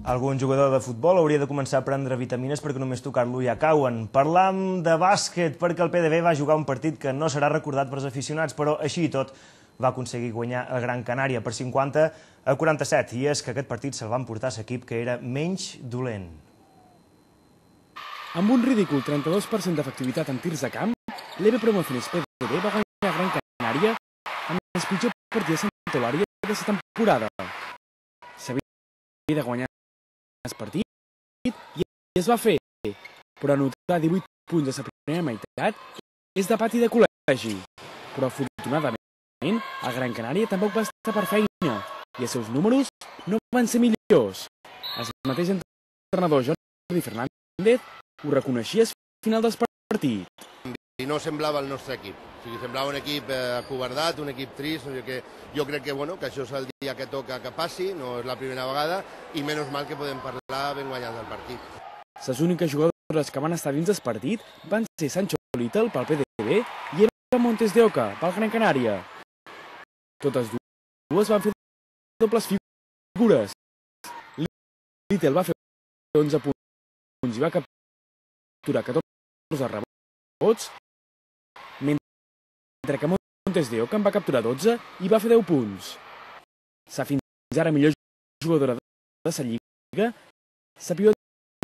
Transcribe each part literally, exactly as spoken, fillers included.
Algun jugador de futbol hauria de començar a prendre vitamines perquè només tocar-lo ja cauen. Parlam de bàsquet perquè el P D B va jugar un partit que no serà recordat pels aficionats, però així i tot va aconseguir guanyar el Gran Canària per cinquanta a quaranta-set. I és que aquest partit se'l va emportar l'equip que era menys dolent. Amb un ridícul trenta-dos per cent d'efectivitat en tirs de camp, l'E B Promociones P D B va guanyar Gran Canària amb el pitjor partit de Santa Eulàlia de la temporada. S'havia de guanyar el partit i es va fer, però anotar divuit punts a la primera meitat és de pati de col·legi. Però afortunadament el Gran Canària tampoc va estar per feina i els seus números no van ser millors. El mateix entrenador Jordi Fernández ho reconeixia al final del partit. I no semblava el nostre equip. O sigui, semblava un equip acobardat, un equip trist. O sigui que jo crec que, bueno, que això és el dia que toca que passi, no és la primera vegada, i menys mal que podem parlar ben guanyat del partit. Les úniques jugadores que van estar dins del partit van ser Sancho Little pel P D B i Eva Montes de Oca pel Gran Canària. Totes dues van fer dobles figures. Little va fer onze punts i va capturar catorze rebots, mentre que Montes de Oca en va capturar dotze i va fer deu punts. La fins ara millor jugadora de la lliga, la pivot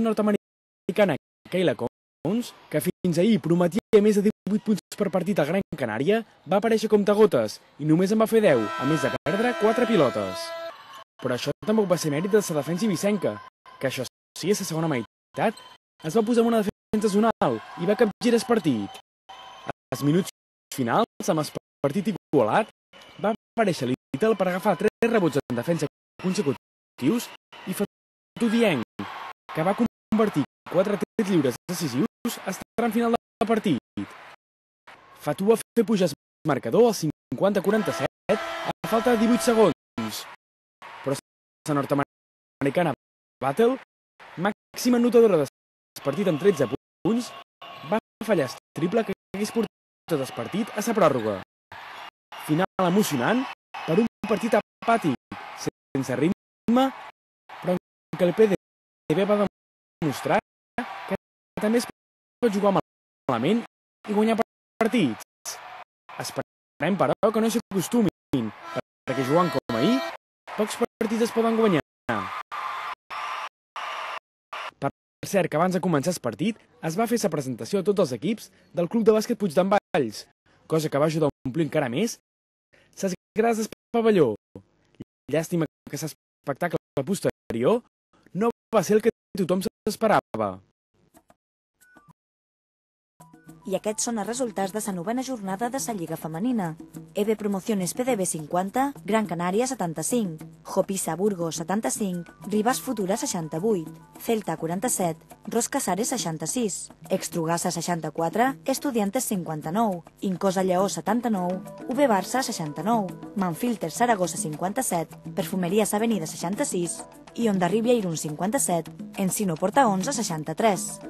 nord-americana Kayla Cowens, que fins ahir prometia més de divuit punts per partit al Gran Canària, va aparèixer comptagotes i només en va fer deu, a més de perdre quatre pilotes. Però això tampoc va ser mèrit de la defensa ibicenca, que això sí, a la segona meitat, es va posar en una defensa zonal i va capgirar el partit. Als minuts finals, amb el partit igualat, va aparèixer Little per agafar tres rebots en defensa consecutius i Fatou Dieng, que va convertir quatre tirs lliures decisius al tram final del partit. Fatou va fer pujar el marcador al cinquanta a quaranta-set a falta de divuit segons. Però la nord-americana Battle, màxima anotadora del partit amb tretze punts, va fallar el triple que hagués portat el partit a la pròrroga. Final emocionant per un partit apàtic, sense ritme, però en què el P D B va demostrar que també es pot jugar malament i guanyar partits. Esperem, però, que no s'acostumin, perquè jugant com ahir, pocs partits es poden guanyar. Per cert, que abans de començar el partit es va fer la presentació a tots els equips del Club de Bàsquet Puigdemvalls, cosa que va ajudar a omplir encara més les grades del pavelló. Llàstima que l'espectacle posterior no va ser el que tothom s'esperava. I aquests són els resultats de la novena jornada de la Lliga Femenina. E B Promociones P D B cinquanta, Gran Canària setanta-cinc, Jopisa Burgos setanta-cinc, Ribas Futura seixanta-vuit, Celta quaranta-set, Ros Casares seixanta-sis, Extrugassa seixanta-quatre, Estudiantes cinquanta-nou, Incosa Lleó setanta-nou, U B Barça seixanta-nou, Manfilter Saragossa cinquanta-set, Perfumeries Avenida seixanta-sis i Ondarribia Irún cinquanta-set, Encino Porta onze seixanta-tres.